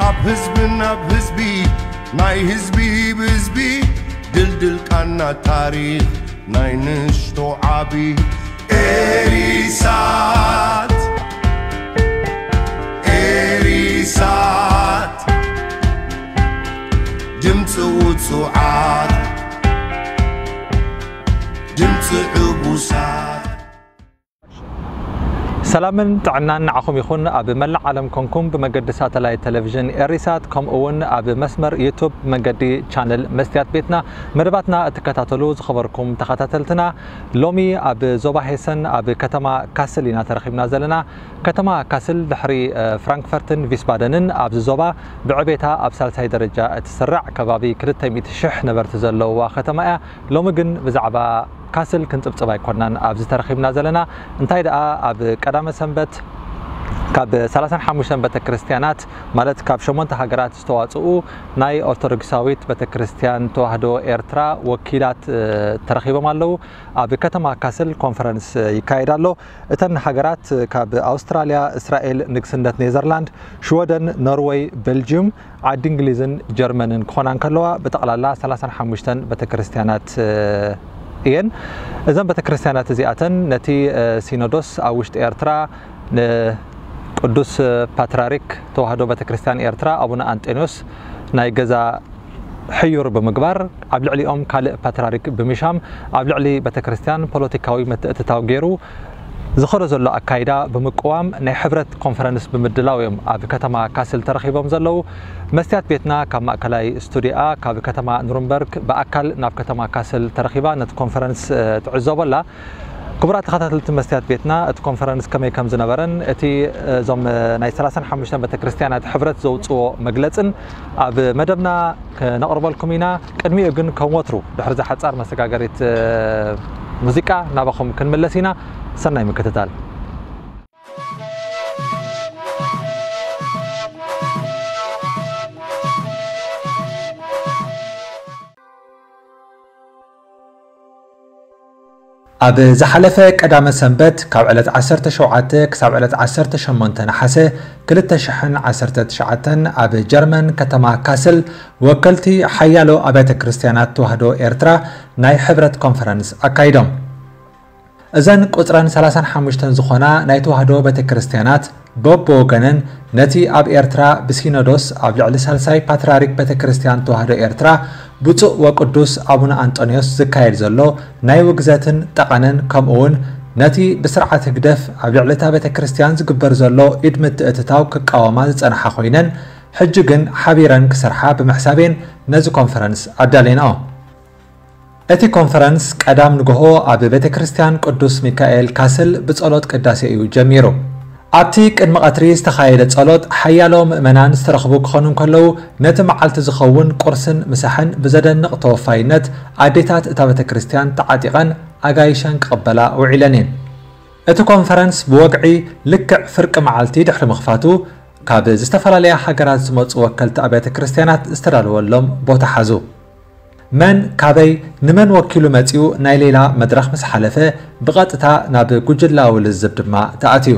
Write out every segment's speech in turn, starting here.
ኣብ ህዝብን ኣብ ህዝቢ ናይ ህዝቢ ብህዝቢ ድልድል ቃና ታሪኽ ናይ ንሽቶ ዓቢ ኤሪሳት ኤሪሳት ድምፂ ውፁዓት ድምፂ ዕቡሳት ሰላምን ጥዕናን ንዓኹም ይኹን። ኣብ መላእ ዓለም ኮንኩም ብመገዲ ሳተላይት ቴሌቪዥን ኤሪሳት ከምኡ እውን ኣብ መስመር ዩቱብ ብመገዲ ቻነል መስትያት ቤትና መደባትና እትከታተሉ ዝኸበርኩም ተኸታተልትና፣ ሎሚ ኣብ ዞባ ሄሰን ኣብ ከተማ ካስል ኢና ተረኺብና ዘለና። ከተማ ካስል ድሕሪ ፍራንክፈርትን ቪስባደንን ኣብዚ ዞባ ብዕቤታ ኣብ ሳልሳይ ደረጃ እትስራዕ ከባቢ ክልተ ሚእቲ ሽሕ ነበርቲ ዘለውዋ ከተማ እያ። ሎሚ ግን ብዛዕባ ካስል ክንጽብጽብ ኣይኮናን ኣብዚ ተረኺብና ዘለና። እንታይ ደኣ ኣብ ቀዳመ ሰንበት ካብ ሰላሳን ሓሙሽተን ቤተ ክርስቲያናት ማለት ካብ ሸሞንተ ሃገራት ዝተዋጽኡ ናይ ኦርቶዶክሳዊት ቤተ ክርስቲያን ተዋህዶ ኤርትራ ወኪላት ተረኺቦም ኣለዉ። ኣብ ከተማ ካስል ኮንፈረንስ ይካየድ ኣሎ። እተን ሃገራት ካብ ኣውስትራልያ፣ እስራኤል፣ ንግስነት ኔዘርላንድ፣ ሽወደን፣ ኖርወይ፣ ቤልጅዩም፣ ዓዲ እንግሊዝን ጀርመንን ክኾና እንከለዋ ብጠቕላላ ሰላሳን ሓሙሽተን ቤተክርስትያናት እየን። እዘን ቤተክርስትያናት እዚኣተን ነቲ ሲኖዶስ ኣብ ውሽጢ ኤርትራ ንቅዱስ ፓትርያርክ ተዋህዶ ቤተክርስትያን ኤርትራ ኣቡነ ኣንጠንዮስ ናይ ገዛ ሕዩር ብምግባር ኣብ ልዕሊኦም ካልእ ፓትርያርክ ብምሻም ኣብ ልዕሊ ቤተክርስትያን ፖለቲካዊ ምትእትታው ገይሩ ዝኸዶ ዘሎ ኣካይዳ ብምቅዋም ናይ ሕብረት ኮንፈረንስ ብምድላው እዮም ኣብ ከተማ ካስል ተረኺቦም ዘለዉ። መስትያት ቤትና ካብ ማእከላይ ስቱዲኣ ካብ ከተማ ኑርንበርግ ብኣካል ናብ ከተማ ካስል ተረኺባ ነቲ ኮንፈረንስ ትዕዘቦ ኣላ። ክቡራት ተኸታተልቲ መስትያት ቤትና እቲ ኮንፈረንስ ከመይ ከም ዝነበረን እቲ እዞም ናይ ሰላሳን ሓሙሽተን ቤተክርስትያናት ሕብረት ዘውፅዎ መግለፅን ኣብ መደብና ክነቕርበልኩም ኢና። ቅድሚኡ ግን ከም ወትሩ ድሕሪ እዛ ሓጻር መሰጋገሪት ሙዚቃ ናባኹም ክንምለስ ኢና። ሰናይ ምክትታል። ኣብ ዝሓለፈ ቀዳመ ሰንበት ካብ ዕለት ዓሰርተ ሸውዓተ ክሳብ ዕለት ዓሰርተ ሸሞንተ ነሓሰ ክልተ ሽሕን ዓሰርተ ትሽዓተን ኣብ ጀርመን ከተማ ካስል ወከልቲ ሓያሎ ኣብያተ ክርስትያናት ተዋህዶ ኤርትራ ናይ ሕብረት ኮንፈረንስ ኣካይዶም። እዘን ቁጽረን ሰላሳን ሓሙሽተን ዝኾና ናይ ተዋህዶ ቤተ ክርስትያናት በብወገነን ነቲ ኣብ ኤርትራ ብሲኖዶስ ኣብ ልዕሊ ሳልሳይ ፓትርያርክ ቤተ ክርስትያን ተዋህዶ ኤርትራ ብፁዕ ወቅዱስ ኣቡነ ኣንጦንዮስ ዝካየድ ዘሎ ናይ ውግዘትን ጠቐነን ከምኡ እውን ነቲ ብስርዓት ህግደፍ ኣብ ልዕሊ እታ ቤተ ክርስትያን ዝግበር ዘሎ ኢድ ምትእትታው ክቃወማ ዝጸንሓ ኮይነን ሕጂ ግን ሓቢረን ክሰርሓ ብምሕሳቤን ነዚ ኮንፈረንስ ኣዳሌናኦ። እቲ ኮንፈረንስ ቀዳም ንግሆ ኣብ ቤተ ክርስትያን ቅዱስ ሚካኤል ካስል ብጸሎት ቅዳሴ እዩ ጀሚሩ። ኣብቲ ቅድሚ ቀትሪ ዝተኻየደ ጸሎት ሓያሎ ምእመናን ዝተረኽቡ ክኾኑ እንከለዉ ነቲ መዓልቲ ዝኸውን ቁርስን ምሳሕን ብዘደንቕ ተወፋይነት ኣዴታት እታ ቤተ ክርስትያን ተዓጢቐን ኣጋይሸን ክቕበላ ውዒለን እየን። እቲ ኮንፈረንስ ብወግዒ ልክዕ ፍርቂ መዓልቲ ድሕሪ ምኽፋቱ ካብ ዝተፈላለያ ሃገራት ዝመጹ ወከልቲ ኣብያተ ክርስትያናት ዝተዳለወሎም ቦታ ሓዙ። መን ካበይ ንመን ወኪሉ መጺኡ ናይ ሌላ መድረኽ ምስ ሓለፈ ብቐጥታ ናብ ጉጅላዊ ልዝብ ድማ ተኣትዩ።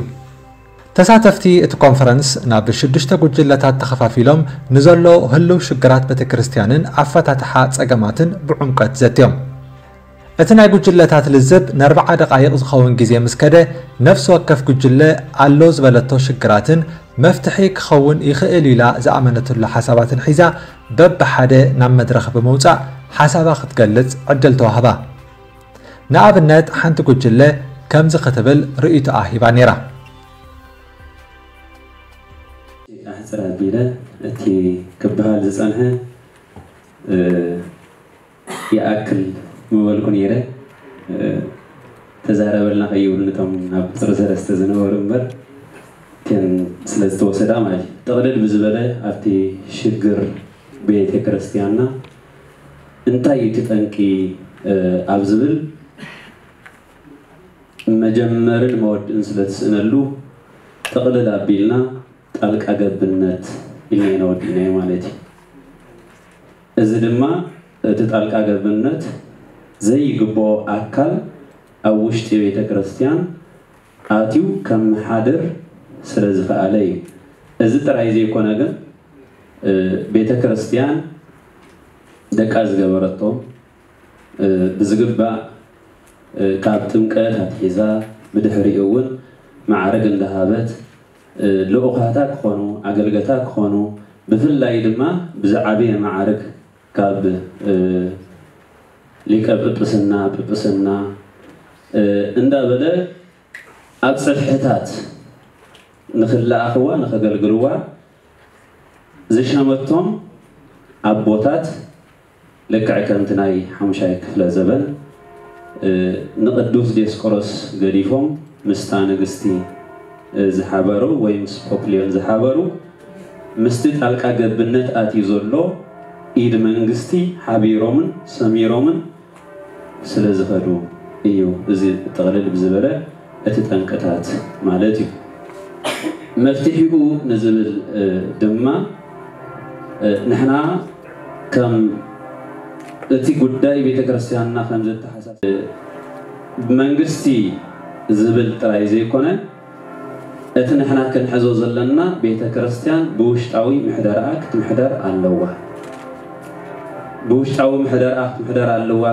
ተሳተፍቲ እቲ ኮንፈረንስ ናብ ሽዱሽተ ጉጅለታት ተኸፋፊሎም ንዘሎ ህልው ሽግራት ቤተ ክርስትያንን ኣፈታትሓ ጸገማትን ብዕምቀት ዘትዮም። እቲ ናይ ጉጅለታት ልዝብ ንኣርብዓ ደቓይቕ ዝኸውን ግዜ ምስ ከደ ነፍሲ ወከፍ ጉጅለ ኣሎ ዝበለቶ ሽግራትን መፍትሒ ክኸውን ይኽእል ኢላ ዝኣመነትሉ ሓሳባትን ሒዛ በብሓደ ናብ መድረኽ ብምውጻእ ሓሳባ ክትገልጽ ዕድል ተዋህባ። ንኣብነት ሓንቲ ጉጅለ ከምዚ ክትብል ርእይቶኣ ሂባ ነይራ። ኣሕፅር ኣቢለ እቲ ክበሃል ዝፀንሐ ይኣክል ምበልኩ ነይረ። ተዛረበልና ከይብሉ ነቶም ኣብ ቁፅሪ ሰለስተ ዝነበሩ እምበር እተን ስለ ዝተወሰዳ ማለት እዩ። ጥቕልል ብዝበለ ኣብቲ ሽግር ቤተ ክርስቲያንና እንታይ እዩ እቲ ጠንቂ ኣብ ዝብል መጀመርን መወድእን ስለ ትስእነሉ ጥቕልል ኣቢልና ጣልቃ ገብነት ኢልና ኢና ወዲእናዮ ማለት እዩ። እዚ ድማ እቲ ጣልቃ ገብነት ዘይግብኦ ኣካል ኣብ ውሽጢ ቤተ ክርስቲያን ኣትዩ ከመሓድር ስለ ዝኸኣለ እዩ። እዚ ጥራይ ዘይኮነ ግን ቤተ ክርስቲያን ደቃ ዝገበረቶ ብዝግባእ ካብ ጥምቀት ኣትሒዛ ብድሕሪኡ እውን ማዕርግ እንዳሃበት ልኡኻታ ክኾኑ ኣገልገታ ክኾኑ ብፍላይ ድማ ብዝዓበየ ማዕርግ ካብ ሊቀ ጵጵስና ጵጵስና እንዳበለ ኣብ ጽፍሕታት ንኽለኣኽዋ ንኸገልግልዋ ዝሸመቶም ኣቦታት ልክዕ ከምቲ ናይ ሓሙሻይ ክፍለ ዘበን ንቅዱስ ዲዮስቆሮስ ገዲፎም ምስታ ንግስቲ ዝሓበሩ ወይ ምስ ፖፕሊዮን ዝሓበሩ ምስቲ ጣልቃ ገብነት ኣትዩ ዘሎ ኢድ መንግስቲ ሓቢሮምን ሰሚሮምን ስለ ዝኸዱ እዩ። እዚ ጥቕልል ብዝበለ እቲ ጠንቅታት ማለት እዩ። መፍትሒኡ ንዝብል ድማ ንሕና ከም እቲ ጉዳይ ቤተ ክርስቲያንና ከም ዘተሓሳስ መንግስቲ ዝብል ጥራይ ዘይኮነ እቲ ንሕና ክንሕዞ ዘለና ቤተ ክርስቲያን ብውሽጣዊ ምሕደርኣ ክትምሕደር ኣለዋ። ብውሽጣዊ ምሕደርኣ ክትምሕደር ኣለዋ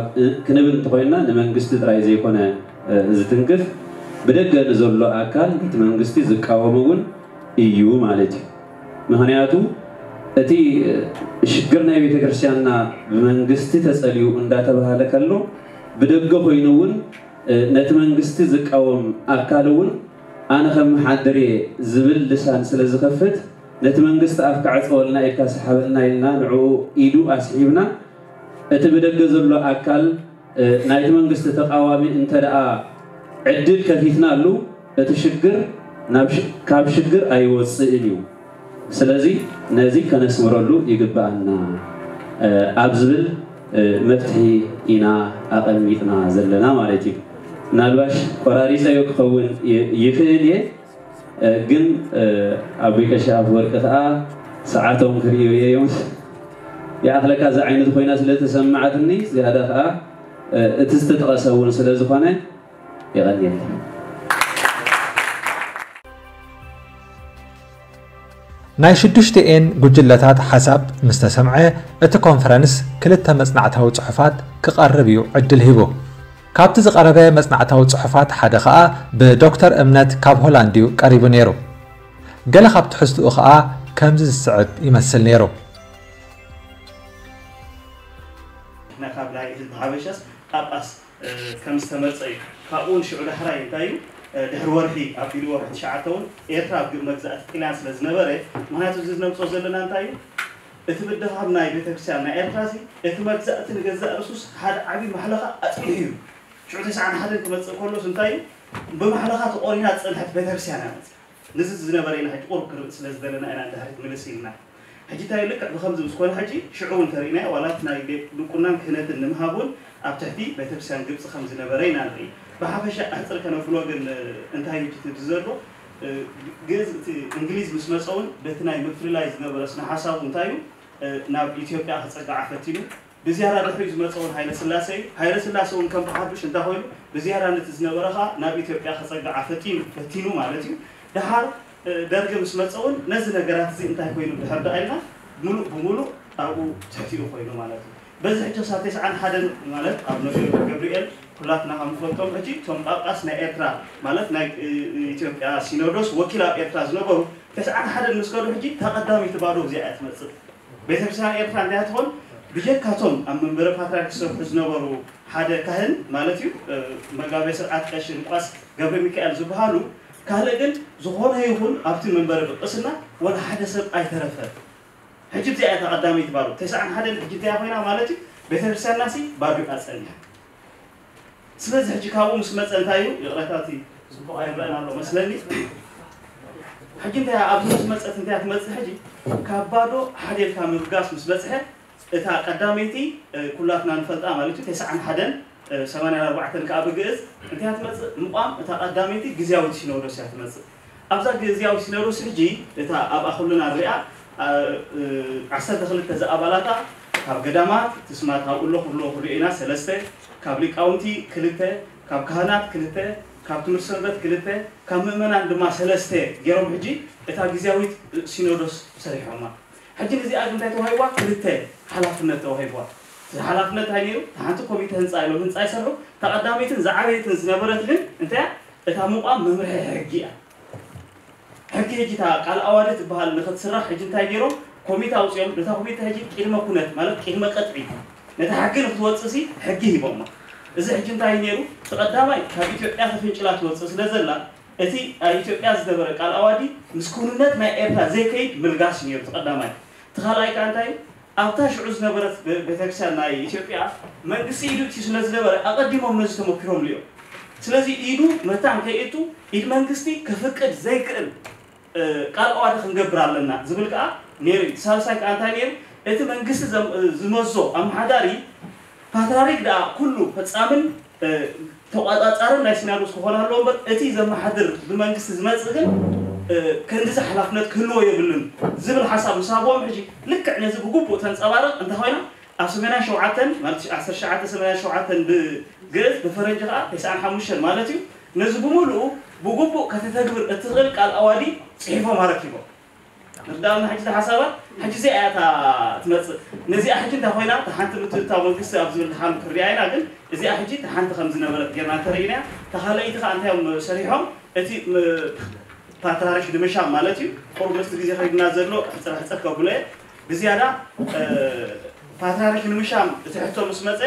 ክንብል እንተኾይንና ንመንግስቲ ጥራይ ዘይኮነ ዝትንክፍ ብደገ ንዘሎ ኣካል እቲ መንግስቲ ዝቃወም እውን እዩ ማለት እዩ። ምክንያቱ እቲ ሽግር ናይ ቤተክርስትያንና ብመንግስቲ ተጸልዩ እንዳተባሃለ ከሎ ብደገ ኮይኑ እውን ነቲ መንግስቲ ዝቃወም ኣካል እውን ኣነ ከም መሓድር እየ ዝብል ልሳን ስለ ዝኸፍት ነቲ መንግስቲ ኣፍ ክዓጸወልና ኢድካ ስሓበልና ኢልና ንዕኡ ኢዱ ኣስሒብና እቲ ብደገ ዘሎ ኣካል ናይቲ መንግስቲ ተቃዋሚ እንተ ደኣ ዕድል ከፊትናሉ እቲ ሽግር ካብ ሽግር ኣይወፅእን እዩ። ስለዚ ነዚ ከነስምረሉ ይግብኣና ኣብ ዝብል መፍትሒ ኢና ኣቐሚጥና ዘለና ማለት እዩ። ምናልባሽ ቆራሪፀዮ ክኸውን ይኽእል እየ፣ ግን ኣቦይ ቀሺ ኣፈወርቂ ከዓ ሰዓቶም ክርእዩ እዮም። ይኣኽለካ እዛ ዓይነት ኮይና ስለ ተሰማዓትኒ ዝያዳ ከዓ እቲ ዝተጠቐሰ እውን ስለ ዝኾነ የቐንየለይ። ናይ ሽዱሽቲኤን ጉጅለታት ሓሳብ ምስ ተሰምዐ፣ እቲ ኮንፈረንስ ክልተ መጽናዕታዊ ጽሑፋት ክቐርብ እዩ ዕድል ሂቡ። ካብቲ ዝቐረበ መጽናዕታዊ ጽሑፋት ሓደ ኸኣ ብዶክተር እምነት ካብ ሆላንድ እዩ ቀሪቡ ነይሩ። ገለ ካብ ትሕዝትኡ ኸኣ ከምዚ ዝስዕብ ይመስል ነይሩ። ንሕና ካብ ናይ ህዝቢ ሓበሻስ ጳጳስ ከም ዝተመርጸ እዩ። ካብኡ እውን ሽዑ ዳሕራይ እንታይ እዩ ድሕሪ ወርሒ ኣቢሉ ወርሒ ትሽዓተ እውን ኤርትራ ኣብ መግዛእቲ ጥልያን ስለ ዝነበረ፣ ምክንያቱ እዚ ነምፅኦ ዘለና እንታይ እዩ እቲ ምድኻም ናይ ቤተክርስትያን ናይ ኤርትራ ሲ እቲ መግዛእቲ ንገዛእ ርእሱስ ሓደ ዓብዪ ማሕለኻ ኣፅኒሑ እዩ። ሽዑ ተስዓን ሓደን ክመፅእ ከሎስ እንታይ እዩ ብማሕለኻ ተቆሪና ዝፀንሐት ቤተክርስትያን እያ መፅያ። ንዚ ዝነበረ ኢና ሕጂ ቁሩብ ክርኢ ስለ ዝደለና ኢና ንድሕሪት ምልስ ኢልና። ሕጂ እንታይ ልክዕ ብኸምዚ ምስ ኮነ ሕጂ ሽዑ እውን ተርኢናዮ ዋላ እቲ ናይ ድቁናን ክህነትን ንምሃብ እውን ኣብ ትሕቲ ቤተክርስትያን ግብፂ ከም ዝነበረ ኢና ንርኢ። ብሓፈሻ ኣሕፅር ከነብሎ ግን እንታይ ሕጂ ትብዚ ዘሎ ግእዝ እቲ እንግሊዝ ምስ መፀ እውን በቲ ናይ ምፍልላይ ዝነበረ ስነ ሓሳቡ እንታይ እዩ ናብ ኢትዮጵያ ክፀግዓ ፈቲኑ። ብዝያዳ ድሕሪኡ ዝመፀ እውን ሃይለ ስላሴ እዩ። ሃይለ ስላሴ እውን ከም ብሓዱሽ እንታይ ኮይኑ ብዝያዳ ነቲ ዝነበረ ከዓ ናብ ኢትዮጵያ ክፀግዓ ፈቲኑ ፈቲኑ ማለት እዩ። ደሓር ደርጊ ምስ መፀ እውን ነዚ ነገራት እዚ እንታይ ኮይኑ ድሕር ደኣ ኢልና ሙሉእ ብሙሉእ ኣብኡ ትሕቲኡ ኮይኑ ማለት እዩ። በዚ ሕጂ ክሳብ ተስዓን ሓደን ማለት ኣብ ነብዮ ገብርኤል ኩላትና ከም ንፈልጦም ሕጂ እቶም ጳጳስ ናይ ኤርትራ ማለት ናይ ኢትዮጵያ ሲኖዶስ ወኪል ኣብ ኤርትራ ዝነበሩ ተስዓን ሓደን ምስ ከዱ ሕጂ እታ ቀዳመይቲ ባዶ እዚኣ እያ ትመፅእ። ቤተክርስትያን ኤርትራ እንታይ ትኾን ብጀካቶም ኣብ መንበረ ፓትርያርክ ዝሰርሑ ዝነበሩ ሓደ ካህን ማለት እዩ መጋቤ ስርዓት ቀሺ ሉቃስ ገብረ ሚካኤል ዝበሃሉ ካልእ ግን ዝኾነ ይኹን ኣብቲ መንበረ ጵጵስና ወላ ሓደ ሰብ ኣይተረፈ። ሕጂ እዚኣ እታ ቀዳመይቲ ባዶ ተስዓን ሓደን ሕጂ እንታይ ኮይና ማለት እዩ ቤተክርስትያንና ሲ ባዶ እያ ፀኒሓ። ስለዚ ሕጂ ካብኡ ምስ መፀ እንታይ እዩ ይቕረታ እቲ ፅቡቕ ኣይረአን ኣሎ መስለኒ። ሕጂ እንታይ ኣብዚ ምስ መፀት እንታይ ትመፅእ ሕጂ ካብ ባዶ ሓደ ኢልካ ምብጋስ ምስ በፅሐ እታ ቀዳመይቲ ኩላትና ንፈልጣ ማለት እዩ ተስዓን ሓደን ሰማንያን ኣርባዕተን ከዓ ብግእዝ እንታይ ትመፅእ ምቋም እታ ቀዳመይቲ ግዝያዊት ሲኖዶስ እያ ትመፅእ። ኣብዛ ግዝያዊት ሲኖዶስ ሕጂ እታ ኣብኣ ኩልና ንሪኣ ዓሰርተ ክልተ ዝኣባላታ ካብ ገዳማት ትስማ ካብ እሎ ክብሎ ክሪኦ ኢና ሰለስተ ካብ ሊቃውንቲ ክልተ ካብ ካህናት ክልተ ካብ ትምህርቲ ሰንበት ክልተ ካብ ምእመናን ድማ ሰለስተ ገይሮም ሕጂ እታ ግዝያዊት ሲኖዶስ ሰሪሖማ። ሕጂ ንዚኣ ግን እንታይ ተዋሂብዋ? ክልተ ሓላፍነት ተዋሂብዋ። እቲ ሓላፍነት እንታይ ነይሩ? እታ ሓንቲ ኮሚተ ህንፃ ኢሎም ህንፃ ይሰርሑ። እታ ቀዳመይትን ዝዓበየትን ዝነበረት ግን እንታይ እያ? እታ ምቋም መምርሒ ሕጊ እያ። ሕጊ ሕጂ እታ ቃል ኣዋዲ ትበሃል ንክትስራሕ ሕጂ እንታይ ገይሮም? ኮሚተ ኣውፂኦም። ነታ ኮሚተ ሕጂ ቅድመ ኩነት ማለት ቅድመ ቅጥዒ ነታ ሕጊ ንክትወፅእ ሲ ሕጊ ሂቦማ። እዚ ሕጂ እንታይ ነይሩ? እቲ ቀዳማይ ካብ ኢትዮጵያ ተፍንጭላ ትወፅእ ስለ ዘላ እቲ ኣብ ኢትዮጵያ ዝነበረ ቃል ኣዋዲ ምስ ክውንነት ናይ ኤርትራ ዘይከይድ ምልጋስ እዩ ነይሩ። እቲ ቀዳማይ። እቲ ካልኣይ ከዓ እንታይ እዩ? ኣብታ ሽዑ ዝነበረት ቤ- ቤተክርስትያን ናይ ኢትዮጵያ መንግስቲ ኢዱ እትዩ ስለ ዝነበረ ኣቐዲሞም ነዚ ተመኪሮም ልዮ። ስለዚ ኢዱ መታን ከይእቱ ኢድ መንግስቲ ክፍቅድ ዘይክእል እ፣ ቃል ኣዋዲ ክንገብር ኣለና ዝብል ከዓ ነይሩ እዩ። ሳልሳይ ከዓ እንታይ ነይሩ? እቲ መንግስቲ ዘም- ዝመዞ ኣመሓዳሪ ፓትራሪክ ደኣ ኩሉ ፈጻምን እ፣ ተቋጻጻርን ናይ ሲናዶስ ክኾን ኣለዎ እምበር እቲ ዘመሓድር ብመንግስቲ ዝመጽእ ግን እ፣ ክንድዚ ሓላፍነት ክህልዎ የብሉን ዝብል ሓሳብ ምስ ሃብዎም ሕጂ ልክዕ ነዚ ብግቡእ ተንጸባርቕ እንተኾይና ኣብ ሰማንያን ሸውዓተን ማለት ዓሰርተ ትሽዓተ ሰማንያን ሸውዓተን ብግእዝ ብፈረንጂ ከዓ ተስዓን ሓሙሽተን ማለት እዩ። ነዚ ብምሉኡ ብግቡእ ከተተግብር እትኽእል ቃል ኣዋዲ ጽሒፎም ኣረኪቦም። ርዳእና ሕጂ ሓሳባት ሕጂ እዚኣ እያ እታ ትመጽእ። ነዚኣ ሕጂ እንታይ ኮይና እታ ሓንቲ ምትእትታው መንግስቲ ኣብ ዝብል ድሓን ክርድያ ኢና፣ ግን እዚኣ ሕጂ እታ ሓንቲ ከም ዝነበረት ጌርና እንተርኢና እያ። እታ ካልኣይቲ ከዓ እንታይ እዮም ሰሪሖም? እቲ ም- ፓትርያርክ ንምሻም ማለት እዩ። ቁሩብ ምስቲ ግዜ ከይድና ዘሎ ሕፅር ሕፅር ከብሎ እየ። ብዝያዳ እ፣ ፓትርያርክ ንምሻም እቲ ሕቶ ምስ መፀ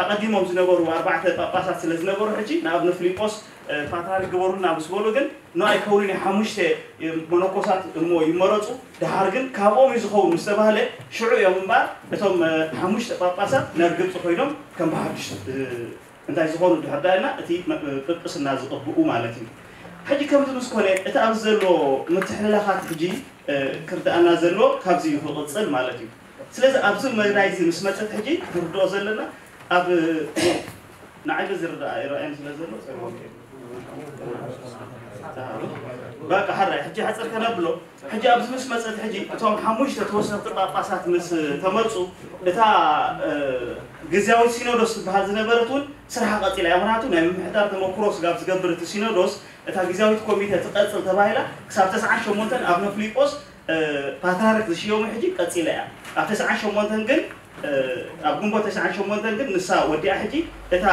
ኣቐዲሞም ዝነበሩ ኣርባዕተ ጳጳሳት ስለ ዝነበሩ ሕጂ ንኣብነ ፊሊጶስ እ፣ ፓትርያርክ ግበሩልና ምስ በሉ ግን ኖ ኣይከውንን እዩ ሓሙሽተ እ፣ መነኮሳት እሞ ይመረፁ። ደሓር ግን ካብኦም እዩ ዝኸውን ምስ ተባህለ ሽዑ እዮም እምበኣር እቶም እ፣ ሓሙሽተ ጳጳሳት ናብ ግብፂ ኮይኖም ከም ብሓዱሽ እ፣ እንታይ ዝኾኑ ድሕር ዳኣ ኢልና እቲ ም- እ፣ ጵጵስና ዝቕብኡ ማለት እዩ። ሕጂ ከምዚ ምስ ኮነ እቲ ኣብዚ ዘሎ ምትሕልላኻት ሕጂ እ፣ ክርድኣና ዘለዎ ካብዚ እዩ ክቕፅል ማለት እዩ። ስለዚ ኣብዚ መዳይ እዚ ምስ መፀት ሕጂ ንርድኦ ዘለና ኣብ ንዓይ በዚ ርዳእ ይረኣየን ስለ ዘሎ በቃ ሓራይ ሕጂ ሕፅር ከነብሎ ሕጂ ኣብዚ ምስ መፀት ሕጂ እቶም ሓሙሽተ ተወሰኽቲ ጳጳሳት ምስ ተመርፁ እታ እ፣ ግዝያዊት ሲኖዶስ ትበሃል ዝነበረት እውን ስርሓ ቀፂላ እያ። ምክንያቱ ናይ ምምሕዳር ተመክሮ ስጋብ ዝገብር እቲ ሲኖዶስ እታ ግዝያዊት ኮሚተ ትቐፅል ተባሂላ ክሳብ ተስዓን ሸሞንተን ኣብ ነፍሊጶስ እ፣ ፓትርያርክ ዝሽየሙ ሕጂ ቀፂላ እያ። ኣብ ተስዓን ሸሞንተን ግን እ፣ ኣብ ግንቦት ተስዓን ሸሞንተን ግን ንሳ ወዲኣ ሕጂ እታ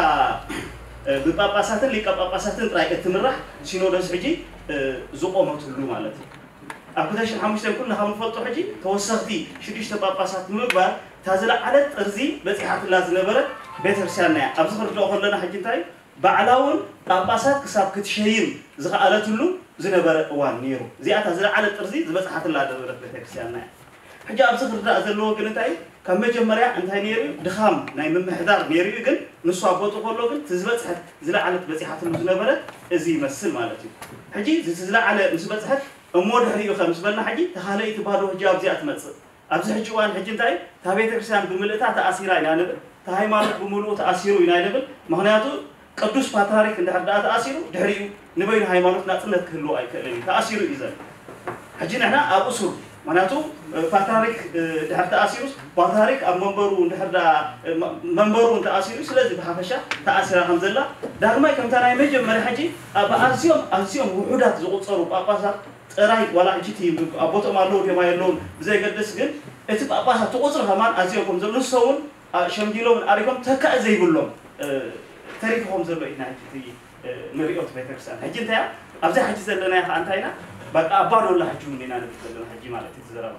እ፣ ብጳጳሳትን ሊቀ ጳጳሳትን ጥራይ እትምራሕ ሲኖዶስ ሕጂ እ፣ ዝቆመትሉ ማለት እዩ። ኣብ ክልተ ሽሕን ሓሙሽተን ኩልና ከም ንፈልጦ ሕጂ ተወሰኽቲ ሽዱሽተ ጳጳሳት ብምግባር እታ ዝለዓለት ጥርዚ በፂሓትላ ዝነበረት ቤተክርስትያንና እያ። ኣብዚ ክርድኦ ከለና ሕጂ እንታይ ባዕላ እውን ጳጳሳት ክሳብ ክትሸይም ዝኸኣለትሉ ዝነበረ እዋን ነይሩ። እዚኣ እታ ዝለዓለት ጥርዚ ዝበፅሓትላ ዝነበረት ቤተክርስትያንና እያ። ሕጂ ኣብዚ ክርዳእ ዘለዎ ግን እንታይ እዩ? ካብ መጀመርያ እንታይ ነይሩ እዩ? ድኻም ናይ ምምሕዳር ነይሩ እዩ። ግን ንሱ ኣብ ቦትኡ ከሎ ግን እቲ ዝበፅሐት ዝለዓለት በፂሓትሉ ዝነበረት እዚ ይመስል ማለት እዩ። ሕጂ እዚ ዝለዓለ ምስ በፅሐት እሞ ድሕሪኡ ከ ምስ በልና ሕጂ ተኻለይቲ ባዶ ሕጂ ኣብዚኣ ትመፅእ። ኣብዚ ሕጂ እዋን ሕጂ እንታይ እታ ቤተ ክርስቲያን ብምልእታ ተኣሲራ ኢና ንብል፣ እታ ሃይማኖት ብምልኡ ተኣሲሩ ኢና ንብል። ምክንያቱ ቅዱስ ፓትርያርክ እንድሕር ደኣ ተኣሲሩ ድሕሪኡ ንበይኑ ሃይማኖት ናፅነት ክህልዎ ኣይክእልን እዩ። ተኣሲሩ እዩ ዘሎ። ሕጂ ንሕና ኣብ እሱር ምክንያቱ ፓትርያርክ ድሕር ተኣሲሩስ ፓትርያርክ ኣብ መንበሩ እንድሕር ደኣ መንበሩ እንተኣሲሩ ስለዚ ብሓፈሻ ተኣሲራ ከም ዘላ ዳግማይ ከምታ ናይ መጀመርያ ሕጂ ኣብ ኣዝዮም ኣዝዮም ውሑዳት ዝቁፀሩ ጳጳሳት ጥራይ ዋላ ሕጂ እቲ ኣብ ቦትኦም ኣለዉ ድዮም ኣየለውን ብዘይገድስ ግን እቲ ጳጳሳት እቲ ቁፅሪ ከማን ኣዝዮም ከም ዘሎ ንሶም እውን ሸምጊሎምን ኣሪጎም ተካኢ ዘይብሎም ተሪፉ ከም ዘሎ ኢና ሕጂ እቲ ንሪኦ እቲ ቤተክርስትያን ሕጂ እንታይ እያ ኣብዛ ሕጂ ዘለና ከዓ እንታይ ኢና በቃ ኣባዶላ ሕጂ እውን ኢና ንብል ዘለና ሕጂ ማለት እዩ ዘረባ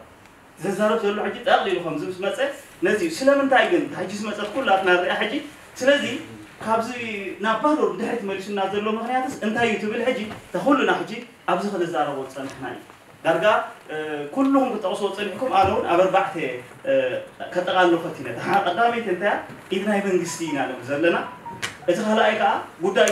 ዘዛረብ ዘሎ ሕጂ ጠቕሊሉ ከምዚ ምስ መፀ ነዚ እዩ ስለምንታይ ግን ሕጂ ዝመፀት ኩላትና ንሪኣ ሕጂ ስለዚ ካብዚ ናብ ባዶ ድሕሪት መሊሱና ዘሎ ምክንያትስ እንታይ እዩ ትብል ሕጂ ተኩልና ሕጂ ኣብዚ ክንዛረቦ ዝፀናሕና እዩ ዳርጋ ኩልኹም ክትጠቕስዎ ፀኒሕኩም ኣነ እውን ኣብ ኣርባዕተ ከጠቓልሎ ፈቲነ እታ ቀዳመይቲ እንታይ ኢድ ናይ መንግስቲ ኢና ንብል ዘለና እቲ ካልኣይ ከዓ ጉዳይ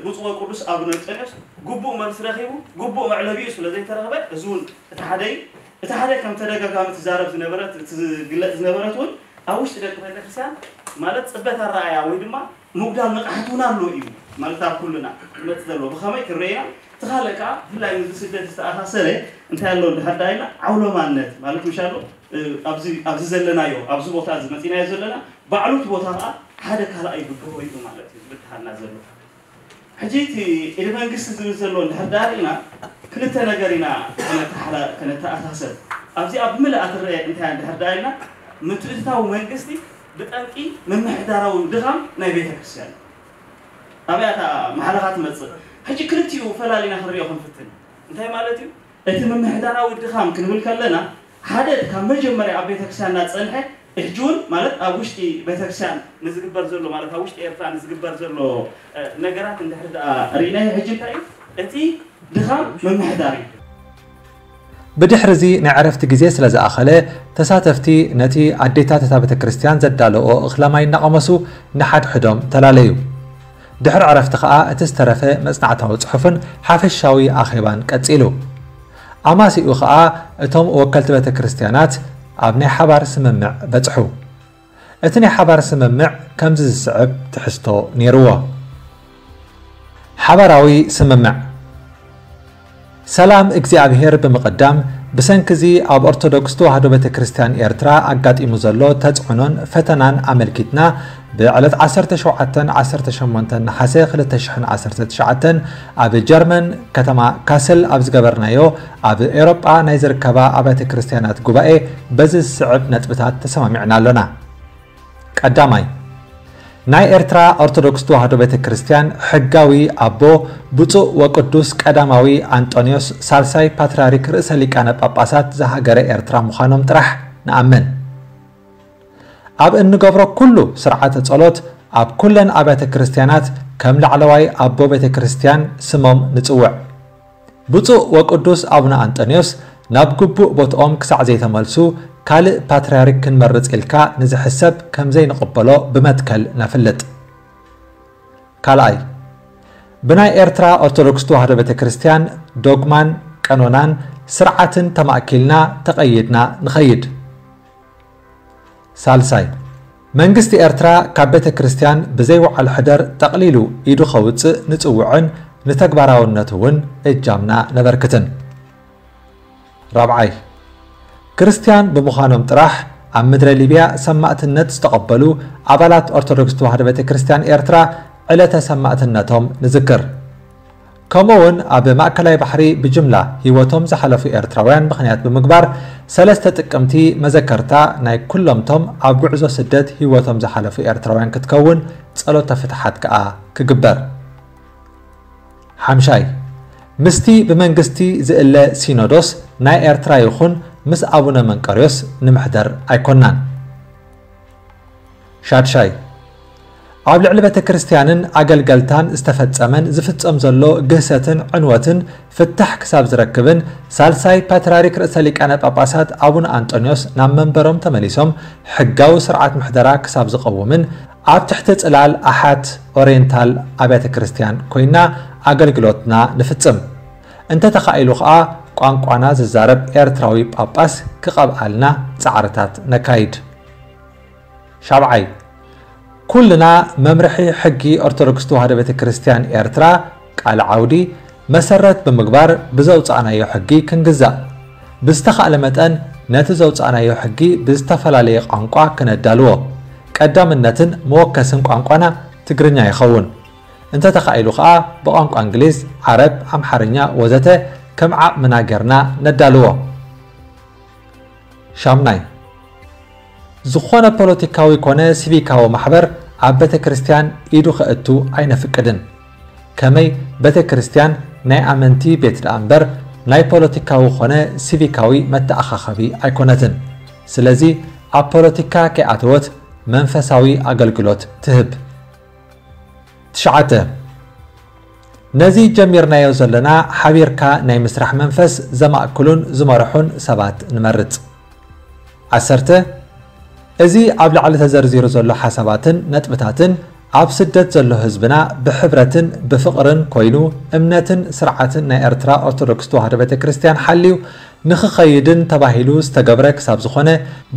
ብፁዕ ወቅዱስ ኣቡነ እንጠንዮስ ግቡእ መልሲ ረኺቡ ግቡእ መዕለቢኡ ስለ ዘይተረኽበ እዚ እውን እቲ ሓደ እዩ እቲ ሓደ ከም ተደጋጋሚ ትዛረብ ዝነበረት እቲ ዝግለፅ ዝነበረት እውን ኣብ ውሽጢ ደቂ ቤተክርስትያን ማለት ፅበት ኣረኣያ ወይ ድማ ምጉዳል ንቕሓት እውን ኣሎ እዩ ማለት ኣብ ኩልና ክመፅእ ዘለዎ ብኸመይ ክንረኢና እቲ ካልእ ከዓ ብፍላይ ምስዚ ስደት ዝተኣሳሰረ እንታይ ኣሎ እንድሕር ዳኢልና ዓውሎማነት ማለት ምሻሉ ኣብዚ ዘለናዮ ኣብዚ ቦታ እዚ መፂናዮ ዘለና ባዕሉ እቲ ቦታ ከዓ ሓደ ካልኣይ ብድሆ እዩ ማለት እዩ ዝብትሃልና ዘሎ ሕጂ እቲ ኢድ መንግስቲ ዝብል ዘሎ እንድሕር ዳርኢና ክልተ ነገር ኢና ከነተኣሳሰብ ኣብዚኣ ብምልኣ ትረአ እንታይ እንድሕር ደኣ ኢልና፣ ምትእትታው መንግስቲ ብጠንቂ ምምሕዳራዊ ድኻም ናይ ቤተ ክርስቲያን እዩ። ኣብያታ ማሕለኻ ትመጽእ። ሕጂ ክልቲኡ ፈላሊና ክንሪኦ ክንፍትን። እንታይ ማለት እዩ? እቲ ምምሕዳራዊ ድኻም ክንብል ከለና፣ ሓደ ካብ መጀመርያ ኣብ ቤተ ክርስቲያንና ዝጸንሐ፣ ሕጂ እውን ማለት ኣብ ውሽጢ ቤተ ክርስቲያን ንዝግበር ዘሎ፣ ማለት ኣብ ውሽጢ ኤርትራ ንዝግበር ዘሎ ነገራት እንድሕር ደኣ ርኢናዮ፣ ሕጂ እንታይ እዩ እቲ ድኻም ምምሕዳር እዩ። ብድሕሪ እዚ ናይ ዕረፍቲ ግዜ ስለ ዝኣኸለ፣ ተሳተፍቲ ነቲ ኣዴታት እታ ቤተ ክርስቲያን ዘዳለዎ እኽለ ማይ እናቐመሱ ንሓድሕዶም ተላለዩ። ድሕሪ ዕረፍቲ ከኣ እቲ ዝተረፈ መጽናዕታዊ ጽሑፍን ሓፈሻዊ ኣኼባን ቀጺሉ። ኣማሲኡ ከኣ እቶም ወከልቲ ቤተ ክርስቲያናት ኣብ ናይ ሓባር ስምምዕ በጽሑ። እቲ ናይ ሓባር ስምምዕ ከምዚ ዝስዕብ ትሕዝቶ ነይርዎ። ሓባራዊ ስምምዕ። ሰላም እግዚኣብሔር ብምቕዳም፣ ብሰንኪ እዚ ኣብ ኦርቶዶክስ ተዋህዶ ቤተ ክርስቲያን ኤርትራ ኣጋጢሙ ዘሎ ተጽዕኖን ፈተናን ኣመልኪትና፣ ብዕለት ዓሰርተ ሸውዓተን ዓሰርተ ሸሞንተን ነሓሰ ክልተ ሽሕን ዓሰርተ ትሽዓተን ኣብ ጀርመን ከተማ ካስል ኣብ ዝገበርናዮ ኣብ ኤውሮጳ ናይ ዝርከባ ኣብያተ ክርስቲያናት ጉባኤ በዚ ዝስዕብ ነጥብታት ተሰማሚዕና ኣሎና። ቀዳማይ፣ ናይ ኤርትራ ኦርቶዶክስ ተዋህዶ ቤተ ክርስቲያን ሕጋዊ ኣቦ ብፁዕ ወቅዱስ ቀዳማዊ ኣንጦንዮስ ሳልሳይ ፓትርያርክ ርእሰ ሊቃነ ጳጳሳት ዘሃገረ ኤርትራ ምዃኖም ጥራሕ ንኣምን። ኣብ እንገብሮ ኩሉ ስርዓተ ጸሎት ኣብ ኩለን ኣብያተ ክርስቲያናት ከም ላዕለዋይ ኣቦ ቤተ ክርስቲያን ስሞም ንጽውዕ። ብፁዕ ወቅዱስ ኣቡነ ኣንጠንዮስ ናብ ግቡእ ቦትኦም ክሳዕ ዘይተመልሱ ካልእ ፓትርያርክ ክንመርጽ ኢልካ ንዝሕሰብ ከም ዘይንቕበሎ ብመትከል ነፍልጥ። ካልኣይ፣ ብናይ ኤርትራ ኦርቶዶክስ ተዋህዶ ቤተ ክርስቲያን ዶግማን ቀኖናን ስርዓትን ተማእኪልና ተቐይድና ንኸይድ። ሳልሳይ፣ መንግስቲ ኤርትራ ካብ ቤተ ክርስቲያን ብዘይ ወዓል ሕደር ጠቕሊሉ ኢዱ ከውጽእ ንጽውዕን ንተግባራውነቱ እውን እጃምና ነበርክትን። ራብዓይ፣ ክርስቲያን ብምዃኖም ጥራሕ ኣብ ምድረ ሊብያ ሰማእትነት ዝተቐበሉ ኣባላት ኦርቶዶክስ ተዋህዶ ቤተ ክርስቲያን ኤርትራ ዕለተ ሰማእትነቶም ንዝክር። ከምኡ እውን ኣብ ማእከላይ ባሕሪ ብጅምላ ህይወቶም ዝሓለፉ ኤርትራውያን ምኽንያት ብምግባር ሰለስተ ጥቅምቲ መዘከርታ ናይ ኩሎምቶም ኣብ ጉዕዞ ስደት ህይወቶም ዝሓለፉ ኤርትራውያን ክትከውን ጸሎተ ፍትሓት ከኣ ክግበር። ሓምሻይ፣ ምስቲ ብመንግስቲ ዝእለ ሲኖዶስ ናይ ኤርትራ ይኹን ምስ ኣቡነ መንቀርዮስ ንምሕደር ኣይኮናን። ሻድሻይ፣ ኣብ ልዕሊ ቤተ ክርስቲያንን ኣገልገልታን ዝተፈጸመን ዝፍጸም ዘሎ ግህሰትን ዕንወትን ፍታሕ ክሳብ ዝረክብን ሳልሳይ ፓትርያርክ ርእሰ ሊቃነ ጳጳሳት ኣቡነ ኣንጦንዮስ ናብ መንበሮም ተመሊሶም ሕጋዊ ስርዓት ምሕደራ ክሳብ ዝቐውምን ኣብ ትሕቲ ጽላል ኣሓት ኦሪየንታል ኣብያተ ክርስቲያን ኮይና ኣገልግሎትና ንፍጽም። እንተተኻኢሉ ኸኣ ቋንቋና ዝዛረብ ኤርትራዊ ጳጳስ ክቐብኣልና ጻዕርታት ነካይድ። ሻብዓይ፣ ኩልና መምርሒ ሕጊ ኦርቶዶክስ ተዋህዶ ቤተ ክርስቲያን ኤርትራ ቃለ ዓውዲ መሰረት ብምግባር ብዘውጻእናዮ ሕጊ ክንግዛእ፣ ብዝተኻእለ መጠን ነቲ ዘውጻእናዮ ሕጊ ብዝተፈላለየ ቋንቋ ክነዳልዎ፣ ቀዳምነትን መወከስን ቋንቋና ትግርኛ ይኸውን። እንተተኻኢሉ ኸኣ ብቋንቋ እንግሊዝ፣ ዓረብ፣ ኣምሓርኛ ወዘተ ከም ዓቕምና ጌርና ነዳልዎ። ሻምናይ፣ ዝኾነ ፖለቲካዊ ኮነ ሲቪካዊ ማሕበር ኣብ ቤተ ክርስቲያን ኢዱ ከእቱ ኣይነፍቅድን። ከመይ ቤተ ክርስቲያን ናይ ኣመንቲ ቤት ደኣ እምበር ናይ ፖለቲካዊ ኮነ ሲቪካዊ መተኣኻኸቢ ኣይኮነትን። ስለዚ ኣብ ፖለቲካ ከይኣተወት መንፈሳዊ ኣገልግሎት ትህብ። ትሽዓተ፣ ነዚ ጀሚርናዮ ዘለና ሓቢርካ ናይ ምስራሕ መንፈስ ዘማእክሉን ዝመርሑን ሰባት ንመርጽ። ዓሰርተ፣ እዚ ኣብ ላዕሊ ተዘርዚሩ ዘሎ ሓሳባትን ነጥብታትን ኣብ ስደት ዘሎ ህዝብና ብሕብረትን ብፍቕርን ኮይኑ እምነትን ስርዓትን ናይ ኤርትራ ኦርቶዶክስ ተዋህዶ ቤተ ክርስቲያን ሓልዩ ንኽኸይድን ተባሂሉ ዝተገብረ ክሳብ ዝኾነ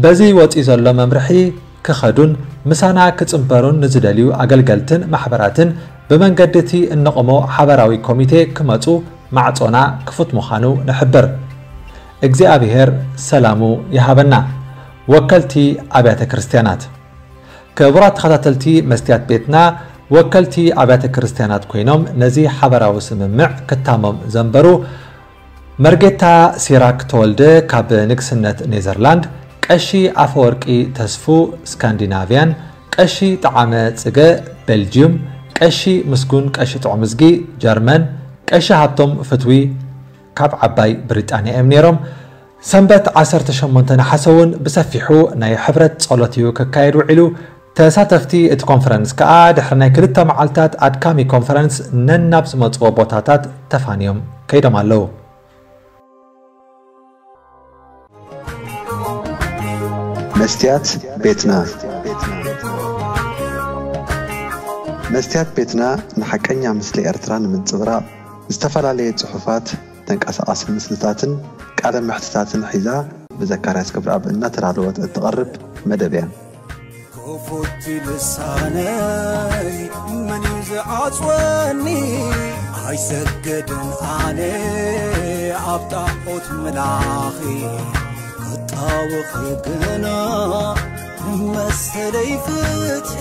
በዚ ወጺኡ ዘሎ መምርሒ ክኸዱን ምሳና ክጽንበሩን ንዝደልዩ ኣገልገልትን ማሕበራትን ብመንገዲ እቲ እነቕሞ ሓበራዊ ኮሚቴ ክመጹ ማዕጾና ክፉት ምዃኑ ንሕብር። እግዚኣብሔር ሰላሙ ይሃበና። ወከልቲ ኣብያተ ክርስቲያናት። ክቡራት ተኸታተልቲ መስትያት ቤትና፣ ወከልቲ ኣብያተ ክርስቲያናት ኮይኖም ነዚ ሓበራዊ ስምምዕ ክታሞም ዘንበሩ መርጌታ ሲራክ ተወልደ ካብ ንግስነት ኔዘርላንድ፣ ቀሺ ኣፈወርቂ ተስፉ ስካንዲናቪያን፣ ቀሺ ጠዓመ ጽገ ቤልጅዩም፣ ቀሺ ምስጉን ቀሺ ጥዑምዝጊ ጀርመን፣ ቀሺ ሃብቶም ፍትዊ ካብ ዓባይ ብሪጣንያ እዮም ነይሮም። ሰንበት ዓሰርተ ሸሞንተ ነሓሰ እውን ብሰፊሑ ናይ ሕብረት ጸሎት እዩ ክካየድ ውዒሉ። ተሳተፍቲ እቲ ኮንፈረንስ ከኣ ድሕሪ ናይ ክልተ መዓልታት ኣድካሚ ኮንፈረንስ ነናብ ዝመጽዎ ቦታታት ተፋንዮም ከይዶም ኣለዉ። መስትያት ቤትና። መስትያት ቤትና ንሓቀኛ ምስሊ ኤርትራ ንምንጽብራቕ ዝተፈላለየ ጽሑፋት፣ ተንቀሳቓሲ ምስልታትን ቃለ መሕትታትን ሒዛ ብዘካርያስ ገብረኣብ እናተዳለወት እትቐርብ መደብ እያ። ክፉት ልሳነይ መን እዩ ዝዓጽወኒ? ኣይሰገድን ኣነ ኣብ ጣዖት ምላኺ ክጣወኺ ግና መሰለይ ፍትሒ